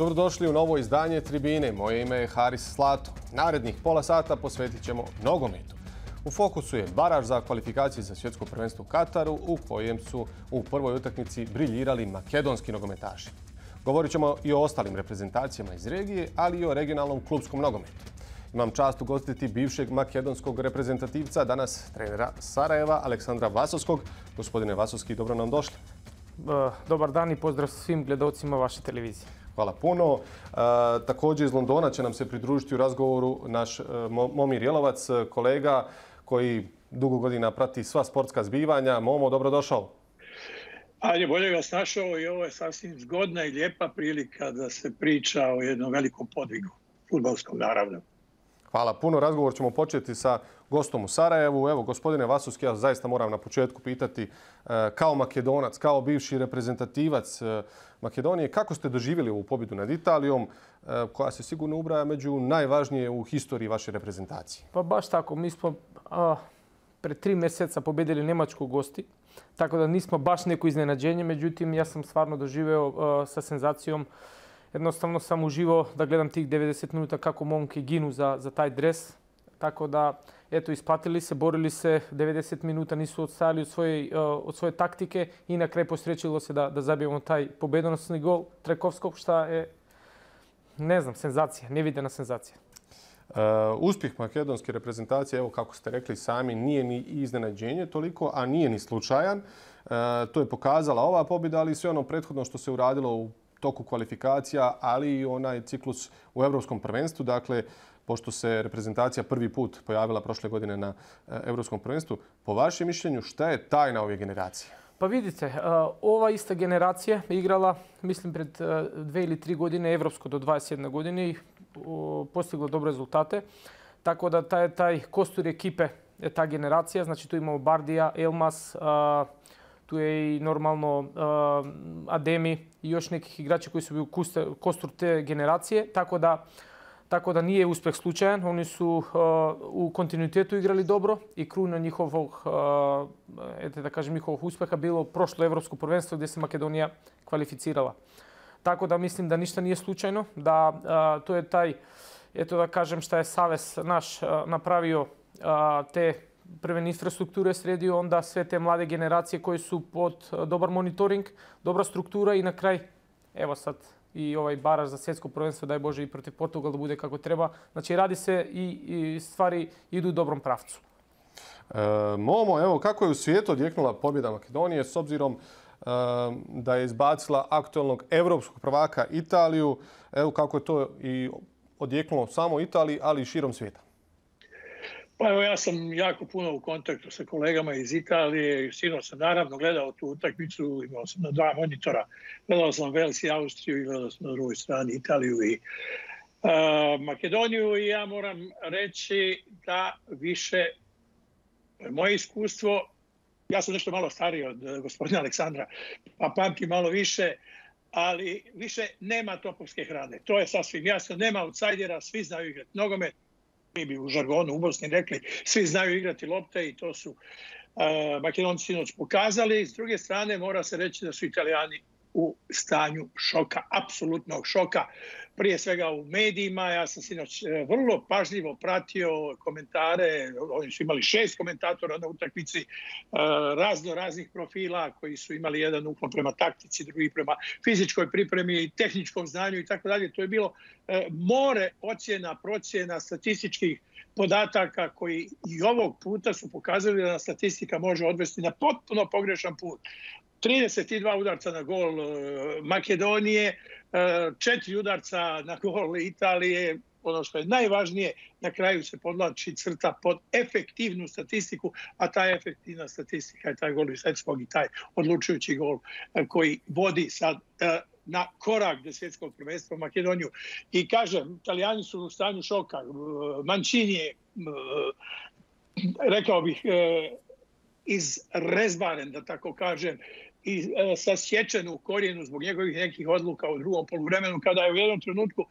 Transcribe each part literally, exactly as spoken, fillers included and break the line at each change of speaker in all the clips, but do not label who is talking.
Dobrodošli u novo izdanje Tribine. Moje ime je Haris Slato. Narednih pola sata posvetit ćemo nogometu. U fokusu je baraž za kvalifikacije za svjetsko prvenstvo u Kataru, u kojem su u prvoj utakmici briljirali makedonski nogometaši. Govorit ćemo i o ostalim reprezentacijama iz regije, ali i o regionalnom klubskom nogometu. Imam čast ugostiti bivšeg makedonskog reprezentativca, danas trenera Sarajeva, Aleksandra Vasovskog. Gospodine Vasovski, dobro nam došli.
Dobar dan i pozdrav svim gledalcima vaše televizije.
Hvala puno. E, također iz Londona će nam se pridružiti u razgovoru naš e, Momir Jelovac, kolega koji dugo godina prati sva sportska zbivanja. Momo, dobrodošao.
Ajde, bolje vas našao i ovo je sasvim zgodna i lijepa prilika da se priča o jednom velikom podvigu, fudbalskom naravno.
Hvala puno. Razgovor ćemo početi sa gostom u Sarajevu. Evo, gospodine Vasovski, ja zaista moram na početku pitati kao Makedonac, kao bivši reprezentativac Makedonije, kako ste doživjeli ovu pobjedu nad Italijom, koja se sigurno ubraja među najvažnije u historiji vaše reprezentacije?
Pa baš tako. Mi smo a, pred tri mjeseca pobjedili Njemačku gosti, tako da nismo baš neko iznenađenje. Međutim, ja sam stvarno doživeo a, sa senzacijom. Jednostavno sam uživao da gledam tih devedeset minuta kako momke ginu za, za taj dres. Tako da, eto, isplatili se, borili se, devedeset minuta nisu odstajali od svoje, od svoje taktike i na kraju posrećilo se da, da zabijemo taj pobedonosni gol Trekovskog, što je, ne znam, senzacija, nevidena senzacija.
Uh, uspjeh makedonske reprezentacije, evo kako ste rekli sami, nije ni iznenađenje toliko, a nije ni slučajan. Uh, to je pokazala ova pobjeda, ali i sve ono prethodno što se uradilo u toku kvalifikacija, ali i onaj ciklus u Evropskom prvenstvu. Dakle, pošto se reprezentacija prvi put pojavila prošle godine na Evropskom prvenstvu, po vašem mišljenju, šta je tajna ove generacije?
Pa vidite, ova ista generacija je igrala, mislim, pred dve ili tri godine Evropsko do dvadeset jedne godine i postigla dobre rezultate. Tako da taj, taj kostur ekipe je ta generacija. Znači, tu imamo Bardija, Elmas, tu je i normalno uh, Ademi i još nekih igrača koji su bili u kostur te generacije. Tako da, tako da nije uspjeh slučajan. Oni su uh, u kontinuitetu igrali dobro i kruna njihovog, uh, eto da kažem, njihovog uspjeha bilo prošlo evropsko prvenstvo gdje se Makedonija kvalificirala. Tako da mislim da ništa nije slučajno. Da uh, to je taj, eto da kažem, šta je Savez naš uh, napravio uh, te prve infrastrukture sredio, onda sve te mlade generacije koje su pod dobar monitoring, dobra struktura i na kraj, evo sad i ovaj baraž za svjetsko prvenstvo, daj Bože i protiv Portugala da bude kako treba. Znači radi se i, i stvari idu u dobrom pravcu.
E, Momo, evo kako je u svijetu odjeknula pobjeda Makedonije s obzirom e, da je izbacila aktualnog evropskog prvaka Italiju, evo kako je to i odjeknulo samo Italiji, ali i širom svijeta?
Pa evo, ja sam jako puno u kontaktu sa kolegama iz Italije. Sinoć sam naravno gledao tu utakmicu, imao sam na dva monitora. Gledao sam Vels i Austriju i gledao sam na drugoj strani Italiju i uh, Makedoniju. I ja moram reći da više moje iskustvo, ja sam nešto malo stariji od gospodina Aleksandra, pa pamtim malo više, ali više nema topovske hrane. To je sasvim jasno. Nema outsidera, svi znaju igrati nogomet. Mi bi u žargonu u Bosni rekli, svi znaju igrati lopte i to su uh, Makedonci sinoć pokazali. S druge strane, mora se reći da su Italijani u stanju šoka, apsolutnog šoka. Prije svega u medijima. Ja sam sinoć vrlo pažljivo pratio komentare. Oni su imali šest komentatora na utakmici razno raznih profila koji su imali jedan uklon prema taktici, drugi prema fizičkoj pripremi i tehničkom znanju i tako dalje. To je bilo more ocjena, procjena, statističkih podataka koji i ovog puta su pokazali da statistika može odvesti na potpuno pogrešan put. trideset dva udarca na gol Makedonije, četiri udarca na gol Italije. Ono što je najvažnije, na kraju se podlači crta pod efektivnu statistiku, a ta efektivna statistika je taj gol Visecskog i taj odlučujući gol koji vodi sad na korak do svjetskog prvenstva Makedoniju. I kažem, Italijani su u stanju šoka. Mancini je, rekao bih, izrezbaren, da tako kažem, i sasječen u korijenu zbog njegovih nekih odluka u drugom poluvremenu, kada je u jednom trenutku,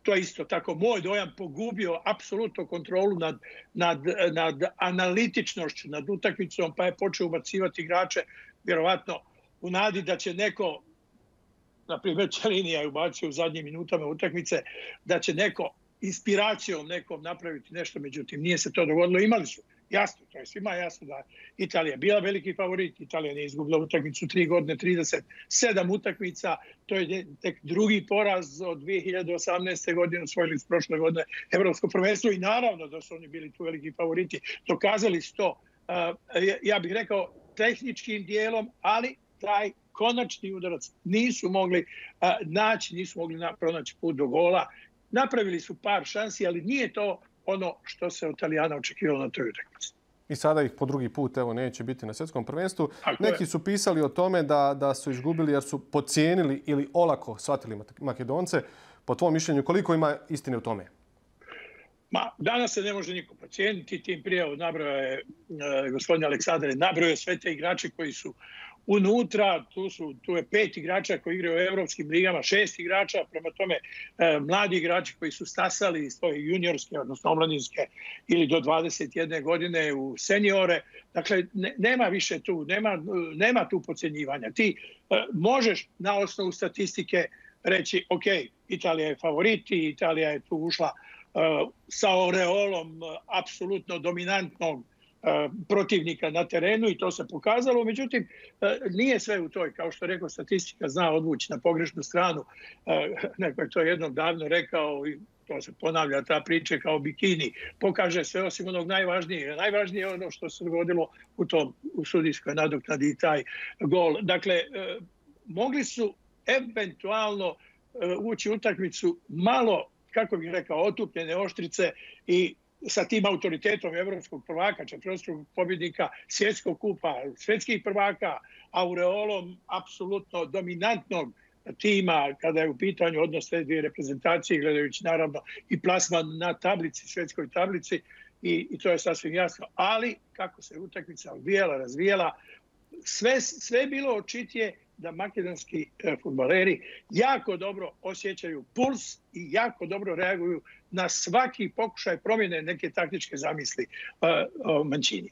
to je isto tako moj dojam, pogubio apsolutno kontrolu nad, nad, nad analitičnošću, nad utakmicom, pa je počeo ubacivati igrače, vjerovatno u nadi da će neko na primjer Ćelinija je ubacio u zadnjim minutama utakmice, da će neko inspiracijom nekom napraviti nešto, međutim nije se to dogodilo. Imali su, jasno, to je svima jasno da Italija je bila veliki favorit, Italija nije izgubila utakmicu tri godine, trideset sedam utakmica, to je tek drugi poraz od dvije hiljade osamnaeste. godine, osvojili s prošle godine Evropsko prvenstvo i naravno da su oni bili tu veliki favoriti. Dokazali su to, ja bih rekao, tehničkim dijelom, ali taj konačni udarac nisu mogli naći, nisu mogli pronaći put do gola. Napravili su par šansi, ali nije to ono što se od Italijana očekivalo na toj utakmici.
I sada ih po drugi put evo neće biti na svjetskom prvenstvu. Neki su pisali o tome da, da su izgubili jer su podcijenili ili olako shvatili Makedonce. Po tvom mišljenju, koliko ima istine u tome?
Ma, danas se ne može niko podcijeniti. Tim prije nabrao je e, gospodin Aleksandar, nabrao je sve te igrače koji su unutra, tu, su, tu je pet igrača koji igraju u evropskim ligama, šest igrača, prema tome e, mladi igrači koji su stasali iz svoje juniorske, odnosno omladinske ili do dvadeset jedne godine u seniore. Dakle, ne, nema više tu, nema, nema tu podcjenjivanja. Ti e, možeš na osnovu statistike reći, ok, Italija je favorit i Italija je tu ušla e, sa oreolom apsolutno dominantnog protivnika na terenu i to se pokazalo. Međutim, nije sve u toj, kao što je rekao, statistika zna odvući na pogrešnu stranu. Neko je to jednom davno rekao i to se ponavlja, ta priča kao bikini. Pokaže sve osim onog najvažnije. Najvažnije je ono što se dogodilo u tom u sudijskoj nadoknadi i taj gol. Dakle, mogli su eventualno ući u utakmicu malo, kako bih rekao, otupljene oštrice i sa tim autoritetom evropskog prvaka, četvrtstrukog pobjednika svjetskog kupa, svjetskih prvaka, aureolom apsolutno dominantnog tima kada je u pitanju odnos te dvije reprezentacije, gledajući naravno i plasman na tablici, svjetskoj tablici, i, i to je sasvim jasno. Ali kako se utakmica odvijala, razvijela, sve, sve je bilo očitije da makedonski fudbaleri jako dobro osjećaju puls i jako dobro reaguju na svaki pokušaj promjene neke taktičke zamisli uh, Mancini.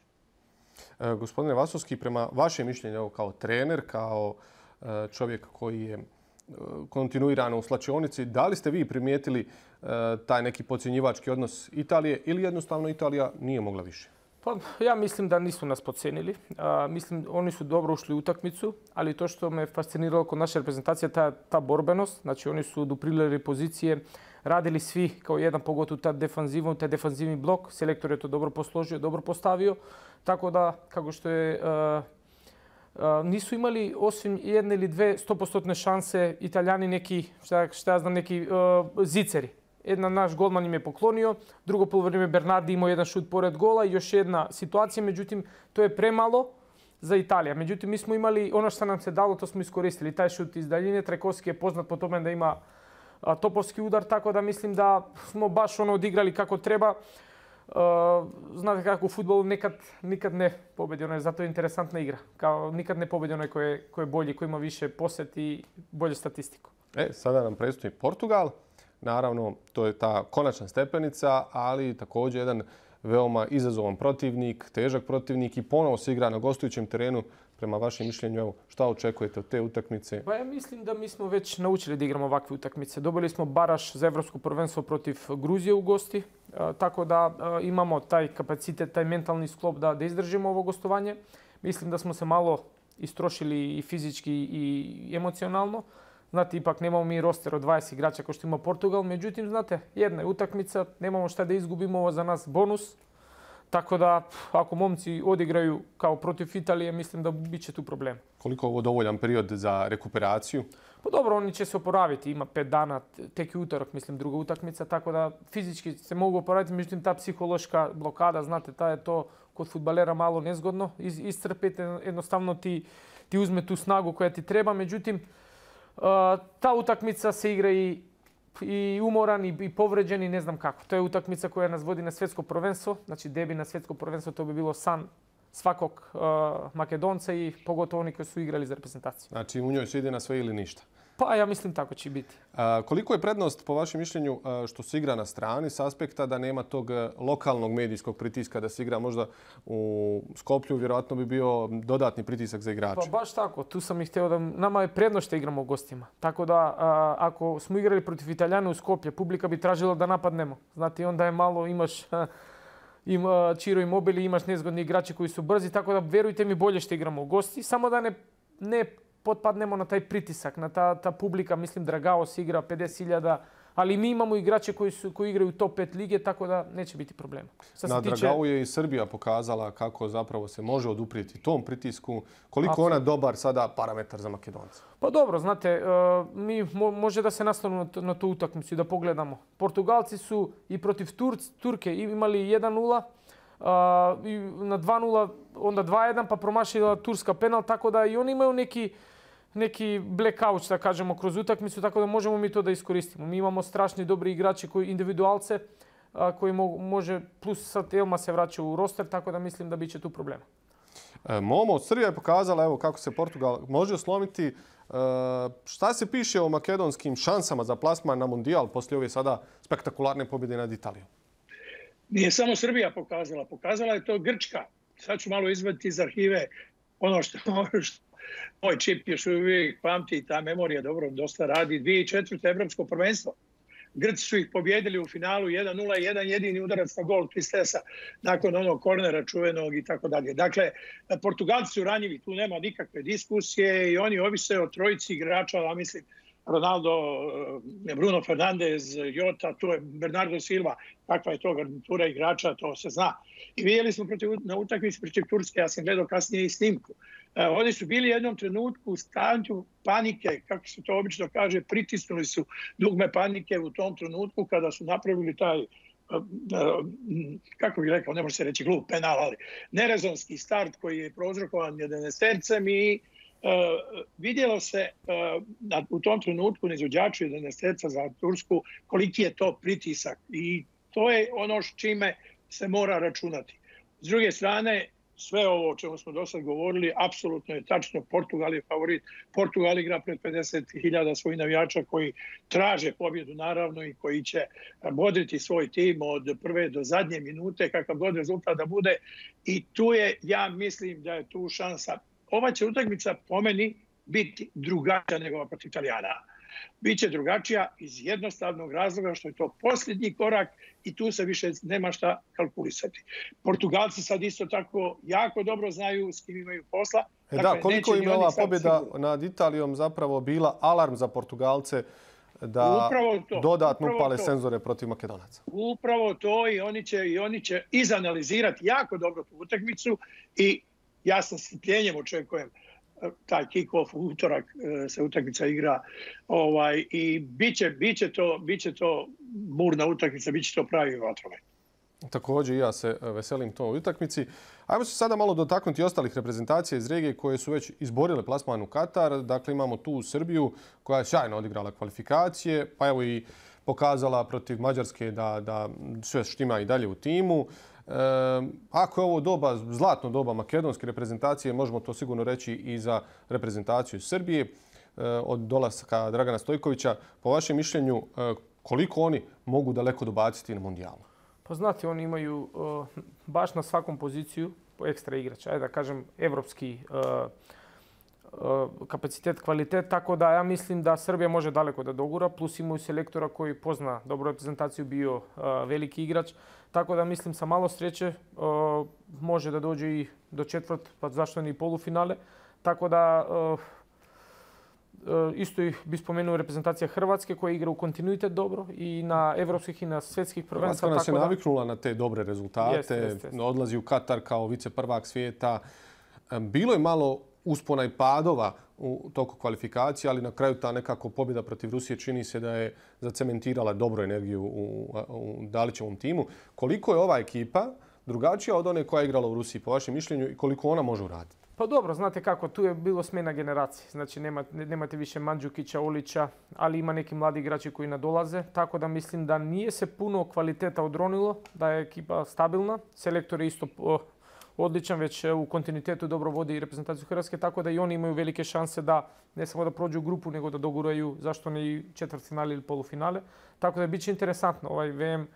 E, gospodine Vasovski, prema vašem mišljenju kao trener, kao uh, čovjek koji je uh, kontinuirano u slačionici, da li ste vi primijetili uh, taj neki podcjenjivački odnos Italije ili jednostavno Italija nije mogla više?
Pa, ja mislim da nisu nas podcijenili. A, mislim, oni su dobro ušli u utakmicu, ali to što me fasciniralo kod naše reprezentacije, ta, ta borbenost. Znači, oni su duprilili pozicije, radili svi kao jedan, pogotovo ta defanzivu, taj defanzivni blok. Selektor je to dobro posložio, dobro postavio. Tako da, kako što je, a, a, nisu imali osim jedne ili dve stopostotne šanse Italijani neki, šta, šta ja znam, neki a, ziceri. Jedna naš golman im je poklonio, drugo poluvreme Bernardi imao jedan šut pored gola i još jedna situacija, međutim to je premalo za Italija. Međutim, mi smo imali ono što nam se dalo, to smo iskoristili. Taj šut iz daljine, Trajkovski je poznat po tome da ima a, topovski udar, tako da mislim da smo baš ono odigrali kako treba. A, znate kako u fudbalu nekad, nikad ne pobedi, ono je zato je interesantna igra. Kao nikad ne pobedi onaj koji je, koji je bolji, koji ima više posjet i bolju statistiku.
E, sada nam predstoji Portugal. Naravno, to je ta konačna stepenica, ali također jedan veoma izazovan protivnik, težak protivnik i ponovo se igra na gostujućem terenu. Prema vašem mišljenju, evo, šta očekujete od te utakmice?
Pa ja mislim da mi smo već naučili da igramo ovakve utakmice. Dobili smo baraž za evropsko prvenstvo protiv Gruzije u gosti, tako da imamo taj kapacitet, taj mentalni sklop da, da izdržimo ovo gostovanje. Mislim da smo se malo istrošili i fizički i emocionalno. Znate, ipak nemamo mi roster od dvadeset igrača kao što ima Portugal. Međutim, znate, jedna je utakmica, nemamo šta da izgubimo, ovo za nas bonus. Tako da, ako momci odigraju kao protiv Italije, mislim da bit će tu problem.
Koliko je ovo dovoljan period za rekuperaciju?
Pa dobro, oni će se oporaviti. Ima pet dana, tek i utorak, mislim, druga utakmica. Tako da fizički se mogu oporaviti. Međutim, ta psihološka blokada, znate, ta je to kod fudbalera malo nezgodno. Is, iscrpite, jednostavno ti, ti uzme tu snagu koja ti treba. Međutim, Uh, ta utakmica se igra i, i umoran i, i povređen i ne znam kako. To je utakmica koja nas vodi na svjetsko prvenstvo. Znači debi na svjetsko prvenstvo, to bi bilo san svakog uh, Makedonca i pogotovo oni koji su igrali za reprezentaciju.
Znači u njoj se ide na sve ili ništa?
Pa ja mislim tako će biti.
A, koliko je prednost po vašem mišljenju što se igra na strani s aspekta da nema tog lokalnog medijskog pritiska da se igra možda u Skoplju, vjerojatno bi bio dodatni pritisak za igrače?
Pa baš tako. Tu sam ih htio da nama je prednost što igramo u gostima. Tako da a, ako smo igrali protiv Italijana u Skoplje, publika bi tražila da napadnemo. Znate, onda je malo imaš ima Ciro Immobile, imaš nezgodni igrači koji su brzi, tako da verujte mi bolje što igramo u gosti, samo da ne ne potpadnemo na taj pritisak, na ta, ta publika, mislim Dragao se igra pedeset hiljada, ali mi imamo igrače koji, su, koji igraju u top pet lige, tako da neće biti problema.
Sad na tiče... Dragao je i Srbija pokazala kako zapravo se može oduprijeti tom pritisku. Koliko Absolutno. Ona dobar sada parametar za Makedonce?
Pa dobro, znate, mi može da se nastavimo na tu utakmicu i da pogledamo. Portugalci su i protiv Turc, Turke imali jedan nula, na dva nula, onda dva jedan, pa promašila Turska penal, tako da i oni imaju neki neki blackout, da kažemo, kroz utakmicu, tako da možemo mi to da iskoristimo. Mi imamo strašni dobri igrači, koji individualce, a, koji mo može, plus sad Elma se vraća u roster, tako da mislim da biće tu problema.
E, Momo, Srbija je pokazala evo, kako se Portugal može oslomiti. E, šta se piše o makedonskim šansama za plasman na Mundijal poslije ove sada spektakularne pobjede nad Italijom?
Nije samo Srbija pokazala, pokazala je to Grčka. Sad ću malo izvaditi iz arhive ono što... što moj čip još uvijek pamti i ta memorija dobro dosta radi. dvije tisuće četvrte evropsko prvenstvo. Grci su ih pobjedili u finalu jedan nula, jedan jedini udarac na gol Tristesa nakon onog kornera čuvenog i tako dalje. Dakle, Portugalci su ranjivi, tu nema nikakve diskusije i oni ovise o trojici igrača, a mislim Ronaldo, Bruno Fernandes, Jota, tu je Bernardo Silva, kakva je to garnitura igrača, to se zna. I vidjeli smo protiv, na utakmici protiv Turske, ja sam gledao kasnije i snimku. E, oni su bili jednom trenutku u stanju panike, kako se to obično kaže, pritisnuli su dugme panike u tom trenutku kada su napravili taj, kako bih rekao, ne može se reći glup penal, ali nerezonski start koji je prouzrokovan jedanaestercem i Uh, vidjelo se uh, u tom trenutku na izvođaču jedanaesterca za Tursku koliki je to pritisak i to je ono s čime se mora računati. S druge strane, sve ovo o čemu smo do sad govorili, apsolutno je tačno. Portugal je favorit. Portugal igra pred pedeset hiljada svojih navijača koji traže pobjedu naravno i koji će bodriti svoj tim od prve do zadnje minute, kakav god rezultat da bude. I tu je, ja mislim da je tu šansa. Ova će utakmica po meni biti drugačija nego protiv Italijana. Biće drugačija iz jednostavnog razloga što je to posljednji korak i tu se više nema šta kalkulisati. Portugalci sad isto tako jako dobro znaju s kim imaju posla.
E dakle, da, koliko im je ova pobjeda nad Italijom zapravo bila alarm za Portugalce da to, dodatno upale senzore protiv Makedonaca?
Upravo to i oni će, i oni će izanalizirati jako dobro tu utakmicu i ja sam s strpljenjem očekujem taj kick-off u utorak se utakmica igra ovaj, i biće, biće, to, biće to burna utakmica, biće to pravi vatromet.
Također i ja se veselim toj utakmici. Ajmo se sada malo dotaknuti ostalih reprezentacija iz regije koje su već izborile plasman u Katar. Dakle, imamo tu Srbiju koja je sjajno odigrala kvalifikacije, pa evo i pokazala protiv Mađarske da, da sve štima i dalje u timu. E, ako je ovo doba, zlatno doba makedonske reprezentacije, možemo to sigurno reći i za reprezentaciju Srbije e, od dolaska Dragana Stojkovića. Po vašem mišljenju, e, koliko oni mogu daleko dobaciti na Mundijalu?
Pa znate, oni imaju uh, baš na svakom poziciju ekstra igrača. Ajde da kažem, evropski uh, uh, kapacitet, kvalitet. Tako da ja mislim da Srbija može daleko da dogura. Plus imaju selektora koji pozna dobru reprezentaciju, bio uh, veliki igrač. Tako da mislim sa malo sreće uh, može da dođe i do četvrt, pa zašto ne i polufinale. Tako da uh, uh, isto ih bi spomenuo reprezentacija Hrvatske koja igra u kontinuitet dobro i na evropskih i na svjetskih prvenstva.
Hrvatska nas je naviknula na te dobre rezultate. Jest, jest, jest. Odlazi u Katar kao viceprvak svijeta. Bilo je malo uspona i padova u toku kvalifikacije, ali na kraju ta nekako pobjeda protiv Rusije čini se da je zacementirala dobru energiju u, u Dalićevom timu. Koliko je ova ekipa drugačija od one koja je igrala u Rusiji, po vašem mišljenju, i koliko ona može uraditi?
Pa dobro, znate kako, tu je bilo smjena generacije. Znači nema, nemate više Mandžukića, Olića, ali ima neki mladi igrači koji nadolaze. Tako da mislim da nije se puno kvaliteta odronilo, da je ekipa stabilna. Selektor je isto odličan, već u kontinuitetu dobro vodi reprezentaciju Hrvatske, tako da i oni imaju velike šanse da ne samo da prođu grupu, nego da doguraju zašto ne i četvrtfinale ili polufinale. Tako da bit će interesantno ovaj V M.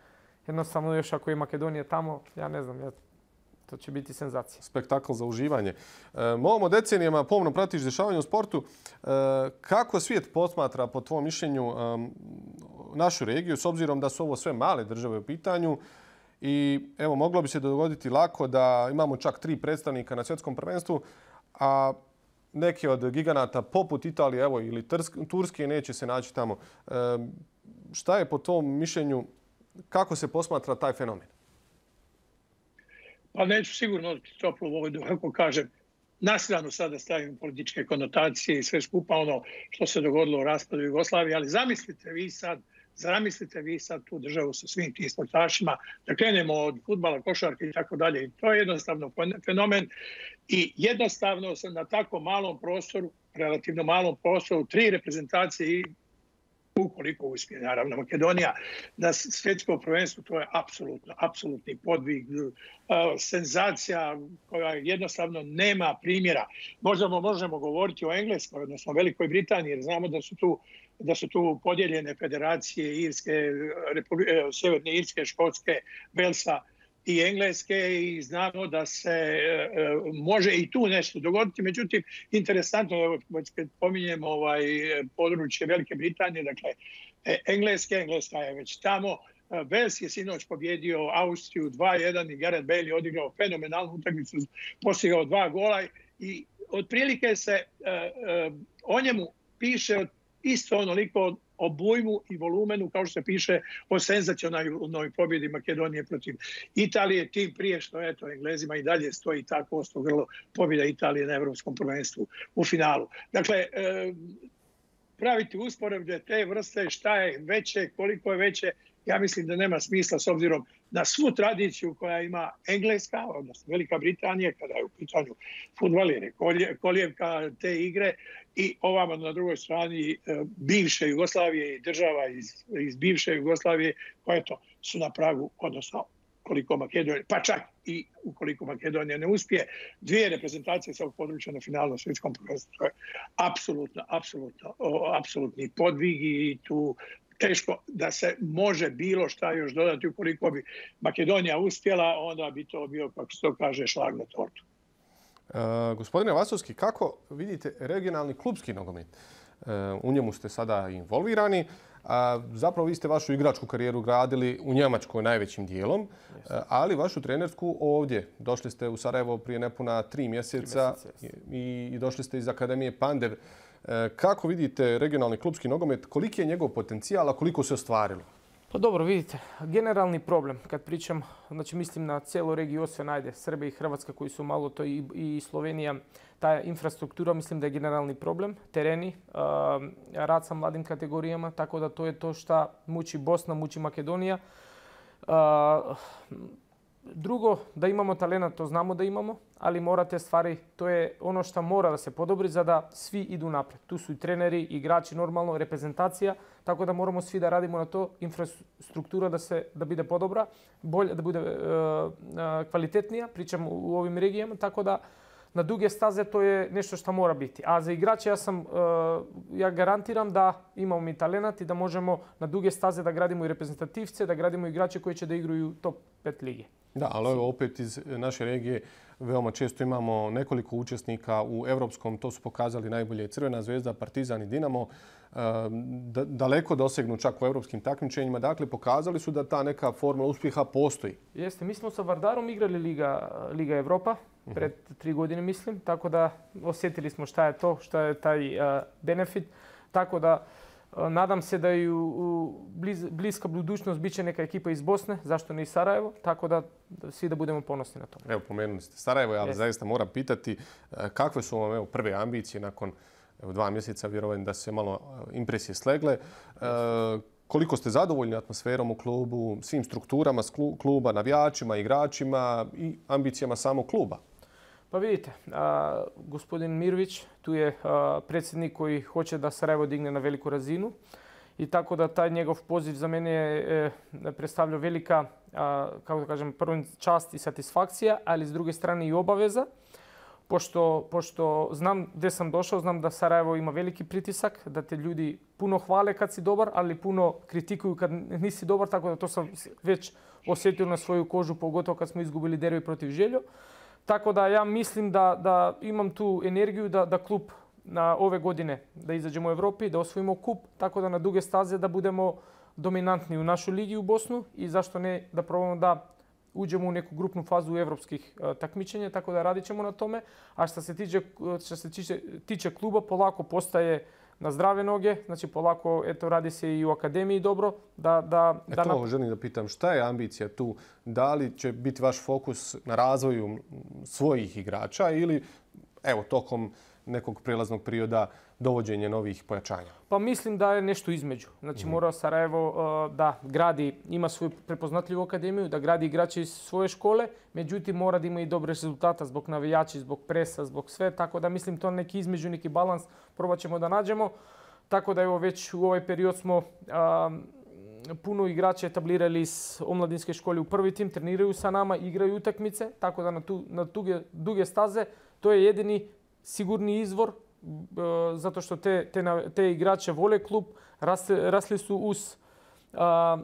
Jednostavno još ako je Makedonija tamo, ja ne znam, ja, to će biti senzacija.
Spektakl za uživanje. E, Momo decenijama pomno pratiš dešavanje u sportu. E, kako svijet posmatra, po tvom mišljenju, um, našu regiju, s obzirom da su ovo sve male države u pitanju? I evo, moglo bi se dogoditi lako da imamo čak tri predstavnika na svjetskom prvenstvu, a neki od giganata poput Italije evo, ili Turske neće se naći tamo. E, šta je po tvom mišljenju, kako se posmatra taj fenomen?
Pa neću sigurno toplu vodu, kako kažem, na stranu sada stavim političke konotacije i sve skupa ono što se dogodilo u raspadu Jugoslavije, ali zamislite vi sad, zamislite vi sad tu državu sa svim tim sportašima, da krenemo od fudbala, košarke i tako dalje. To je jednostavno fenomen i jednostavno sam na tako malom prostoru, relativno malom prostoru, tri reprezentacije i ukoliko uspije, naravno, Makedonija na svjetsko prvenstvo, to je apsolutno, apsolutni podvig, senzacija koja jednostavno nema primjera. Možda možemo govoriti o Engleskoj, odnosno Velikoj Britaniji, jer znamo da su tu da su tu podijeljene federacije Irske, Sjeverne Irske, Škotske, Velsa i Engleske i znamo da se e, može i tu nešto dogoditi. Međutim, interesantno je, kad pominjemo ovaj područje Velike Britanije, dakle, Engleske, Engleska je već tamo. Vels je sinoć pobjedio Austriju dva jedan i Gareth Bale je odigrao fenomenalnu utakmicu, postigao dva gola i otprilike se e, e, o njemu piše isto onoliko obujmu i volumenu kao što se piše o senzacionalnoj pobjedi Makedonije protiv Italije, tim prije što eto, Englezima i dalje stoji tako osto grlo pobjeda Italije na Evropskom prvenstvu u finalu. Dakle, e, praviti usporedbe te vrste, šta je veće, koliko je veće, ja mislim da nema smisla s obzirom na svu tradiciju koja ima Engleska, odnosno Velika Britanija, kada je u pitanju fudbal i kolijevka te igre, i ovamo na drugoj strani bivše Jugoslavije i država iz, iz bivše Jugoslavije, koje to su na pragu, odnosno koliko Makedonija, pa čak i ukoliko Makedonija ne uspije, dvije reprezentacije sa ovog područja na finalnom svjetskom prvenstvu. To je apsolutno, apsolutno, apsolutni podvig i tu teško da se može bilo šta još dodati. Ukoliko bi Makedonija uspjela, onda bi to bio, kako se to kaže, šlag na tortu.
E, gospodine Vasovski, kako vidite regionalni klubski nogomet? E, u njemu ste sada involvirani. A zapravo vi ste vašu igračku karijeru gradili u Njemačkoj najvećim dijelom, ali vašu trenersku ovdje. Došli ste u Sarajevo prije nepuna tri mjeseca i, i došli ste iz Akademije Pandev. Kako vidite regionalni klubski nogomet? Koliki je njegov potencijal, a koliko se ostvarilo?
Pa dobro, vidite, generalni problem, kad pričam, znači mislim na cijelu regiju Osijek, ajde, Srbija i Hrvatska koji su malo to i, i Slovenija, ta infrastruktura mislim da je generalni problem, tereni, uh, rad sa mladim kategorijama, tako da to je to što muči Bosna, muči Makedonija. Uh, drugo, da imamo talenta, to znamo da imamo, ali morate stvari, to je ono što mora da se podobri za da svi idu napred. Tu su i treneri, igrači, normalno, reprezentacija, tako da moramo svi da radimo na to, infrastruktura da se da bude podobra, bolje, da bude uh, uh, kvalitetnija, pričam u ovim regijama, tako da na duge staze to je nešto što mora biti. A za igrače ja sam, uh, ja garantiram da imamo mi talent i da možemo na duge staze da gradimo i reprezentativce, da gradimo igrače koji će da igraju top pet lige.
Da, ali ovo opet iz naše regije veoma često imamo nekoliko učesnika u evropskom, to su pokazali najbolje Crvena zvezda, Partizan i Dinamo, daleko dosegnu čak u evropskim takmičenjima. Dakle, pokazali su da ta neka formula uspjeha postoji.
Jeste, mi smo sa Vardarom igrali Liga, Liga Evropa pred tri godine, mislim, tako da osjetili smo šta je to, šta je taj uh, benefit. Tako da uh, nadam se da i u, u bliz, bliska budućnost bit će neka ekipa iz Bosne, zašto ne i Sarajevo, tako da, da svi da budemo ponosni na to.
Evo, pomenuli ste Sarajevo, ali zaista moram pitati uh, kakve su vam evo, prve ambicije nakon evo, dva mjeseca, vjerujem da se malo impresije slegle. Uh, koliko ste zadovoljni atmosferom u klubu, svim strukturama kluba, navijačima, igračima i ambicijama samog kluba?
Pa vidite, a, gospodin Mirović, tu je a, predsjednik koji hoće da Sarajevo digne na veliku razinu I tako da taj njegov poziv za mene je predstavljao velika, kako da kažem, prvo čast i satisfakcija, ali s druge strane i obaveza. Pošto, pošto znam gdje sam došao, znam da Sarajevo ima veliki pritisak, da te ljudi puno hvale kad si dobar, ali puno kritikuju kad nisi dobar, tako da to sam već osjetio na svoju kožu, pogotovo kad smo izgubili derbi protiv Željo. Tako da ja mislim da, da imam tu energiju da, da klub na ove godine da izađemo u Evropi, da osvojimo kup, tako da na duge staze da budemo dominantni u našoj ligi u Bosnu i zašto ne da probamo da uđemo u neku grupnu fazu evropskih uh, takmičenja, tako da radit ćemo na tome. A što se tiče, što se tiče, tiče kluba, polako postaje na zdrave noge, znači polako eto, radi se i u akademiji dobro. Da, da,
e
da
to
na...
želim da pitam, šta je ambicija tu? Da li će biti vaš fokus na razvoju svojih igrača ili evo, tokom nekog prijelaznog perioda dovođenje novih pojačanja?
Pa mislim da je nešto između. Znači mm. mora Sarajevo uh, da gradi, ima svoju prepoznatljivu akademiju, da gradi igrače iz svoje škole, međutim mora da ima i dobre rezultata zbog navijači, zbog presa, zbog sve. Tako da mislim to neki između, neki balans probat ćemo da nađemo. Tako da evo već u ovaj period smo uh, puno igrača etablirali iz omladinske škole u prvi tim, treniraju sa nama, igraju utakmice, tako da na, tu, na tuge, duge staze to je jedini sigurni izvor, zato što te, te, te igrače vole klub, rasli, rasli su uz,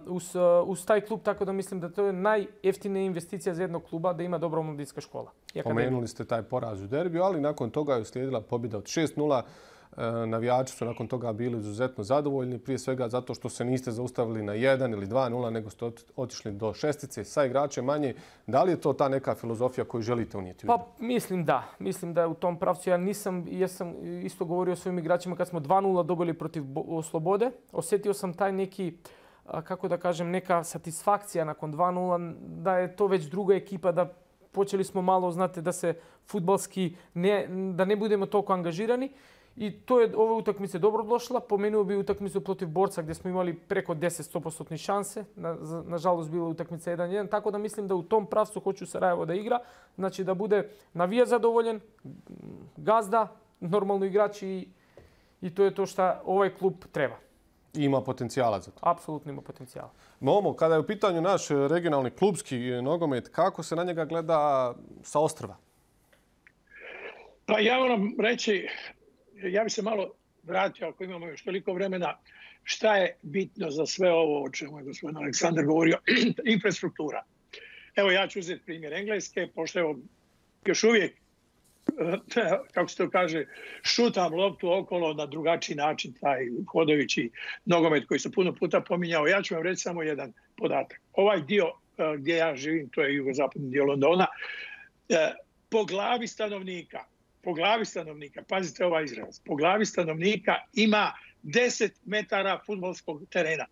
uz, uz taj klub, tako da mislim da to je najjeftinija investicija za jednog kluba, da ima dobra omladinska škola.
Pomenuli ste taj poraz u derbiju, ali nakon toga je uslijedila pobjeda od šest nula. Navijači su nakon toga bili izuzetno zadovoljni, prije svega zato što se niste zaustavili na jedan ili dva nula, nego ste otišli do šestice sa igračem manje. Da li je to ta neka filozofija koju želite unijeti?
Pa mislim da. Mislim da je u tom pravcu. Ja nisam, ja sam isto govorio o svojim igračima kad smo dva nula dobili protiv Slobode. Osjetio sam taj neki, kako da kažem, neka satisfakcija nakon dva nula, da je to već druga ekipa, da počeli smo malo, znate, da se fudbalski, ne, da ne budemo toliko angažirani. I to je ova utakmica dobro došla. Pomenuo bi utakmicu protiv Borca gdje smo imali preko deset sto posto šanse. Na, nažalost, bila utakmica jedan jedan. Tako da mislim da u tom pravcu hoću Sarajevo da igra. Znači da bude navija zadovoljen, gazda, normalno igrači i, i to je to što ovaj klub treba.
Ima potencijala za to?
Apsolutno ima potencijala.
Momo, kada je u pitanju naš regionalni klubski nogomet, kako se na njega gleda sa ostrva?
Pa ja moram reći, ja bih se malo vratio, ako imamo još toliko vremena, šta je bitno za sve ovo o čemu je gospodin Aleksandar govorio, infrastruktura. Evo ja ću uzeti primjer Engleske, pošto evo još uvijek, kako se to kaže, šutam loptu okolo na drugačiji način, taj hodajući nogomet koji se puno puta pominjao. Ja ću vam reći samo jedan podatak. Ovaj dio gdje ja živim, to je jugozapadni dio Londona, po glavi stanovnika, po glavi stanovnika, pazite ovaj izraz, po glavi stanovnika ima deset metara fudbalskog terena.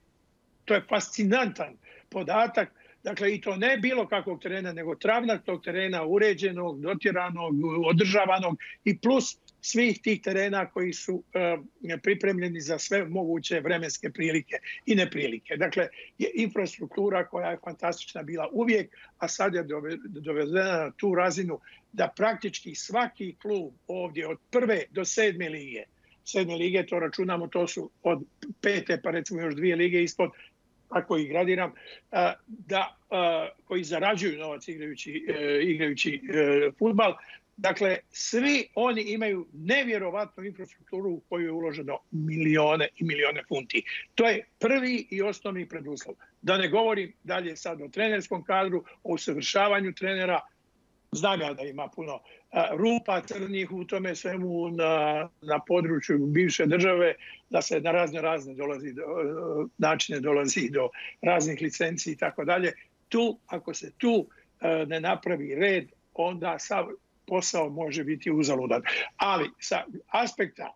To je fascinantan podatak. Dakle, i to ne bilo kakvog terena, nego travnatog terena, uređenog, dotjeranog, održavanog i plus svih tih terena koji su e, pripremljeni za sve moguće vremenske prilike i neprilike. Dakle, je infrastruktura koja je fantastična bila uvijek, a sad je dovedena na tu razinu da praktički svaki klub ovdje od prve do sedme lige, sedme lige to računamo, to su od pete pa recimo još dvije lige ispod, ako ih gradiram, da, koji zarađuju novac igrajući, igrajući fudbal. Dakle, svi oni imaju nevjerovatnu infrastrukturu u koju je uloženo milione i milione funti. To je prvi i osnovni preduslov. Da ne govorim dalje sad o trenerskom kadru, o usavršavanju trenera. Znam ja da ima puno rupa crnih u tome svemu na, na području bivše države, da se na razne razne dolazi do, načine dolazi do raznih licenci i tako dalje. Tu, ako se tu ne napravi red, onda sav posao može biti uzaludan. Ali sa aspekta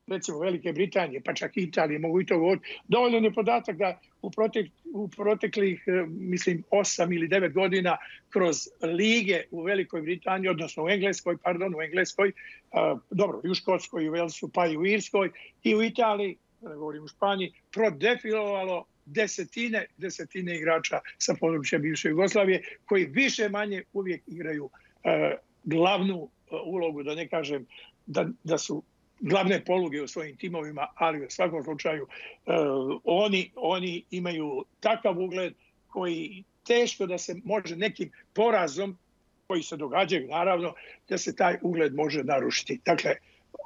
recimo Velike Britanije, pa čak i Italije, mogu i to govoriti, dovoljno je podatak da u, protek, u proteklih, mislim, osam ili devet godina kroz lige u Velikoj Britaniji, odnosno u Engleskoj, pardon, u Engleskoj, uh, dobro, i u Škotskoj, i u Velsu, pa i u Irskoj, i u Italiji, da ne govorim u Španiji, prodefilovalo desetine, desetine igrača sa područja bivše Jugoslavije, koji više manje uvijek igraju uh, glavnu uh, ulogu, da ne kažem da, da su glavne poluge u svojim timovima, ali u svakom slučaju oni, oni imaju takav ugled koji teško da se može nekim porazom, koji se događaju naravno, da se taj ugled može narušiti. Dakle,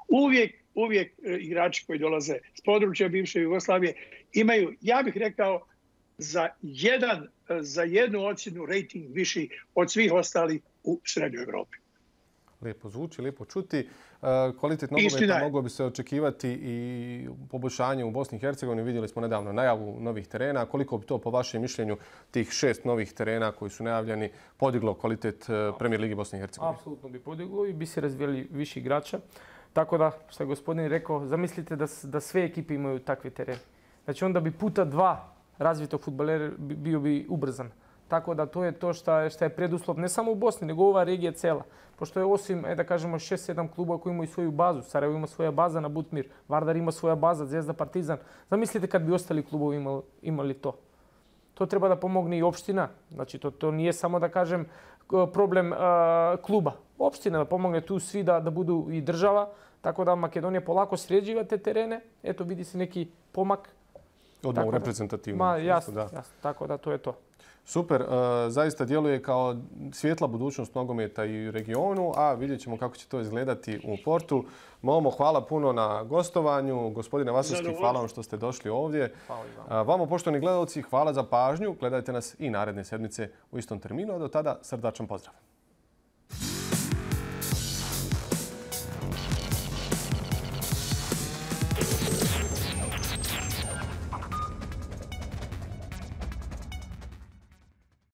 uvijek, uvijek igrači koji dolaze s područja bivše Jugoslavije imaju, ja bih rekao, za, jedan, za jednu ocjenu rating viši od svih ostalih u Srednjoj Evropi.
Lijepo zvuči, lijepo čuti. Kvalitet nogometa moglo bi se očekivati i poboljšanje u Bosni i Hercegovini. Vidjeli smo nedavno najavu novih terena. Koliko bi to po vašem mišljenju tih šest novih terena koji su najavljeni podiglo kvalitet Premier Ligi Bosne i Hercegovine?
Apsolutno bi podiglo i bi se razvijeli više igrača. Tako da, što je gospodin rekao, zamislite da, da sve ekipe imaju takve terene. Znači onda bi puta dva razvitog fudbalera bio bi ubrzan. Tako da to je to što je, što je preduslov ne samo u Bosni, nego ova regija cela. Pošto je osim, e, da kažemo, šest sedam klubova koji imaju svoju bazu. Sarajevo ima svoja baza na Butmir, Vardar ima svoja baza, Zvezda, Partizan. Zamislite kad bi ostali klubovi imali, imali to. To treba da pomogne i opština. Znači to, to nije samo, da kažem, problem uh, kluba. Opština da pomogne tu svi da, da budu i država. Tako da Makedonija polako sređiva te terene. Eto, vidi se neki pomak.
Odmah u reprezentativnom.
Ma, jasno, da. jasno. Tako da to je to.
Super, zaista djeluje kao svjetla budućnost nogometa i u regionu, a vidjet ćemo kako će to izgledati u Portu. Momo, hvala puno na gostovanju. Gospodine Vasilski, hvala vam što ste došli ovdje. Hvala vama, poštovani gledalci, hvala za pažnju. Gledajte nas i naredne sedmice u istom terminu, a do tada srdačan pozdrav.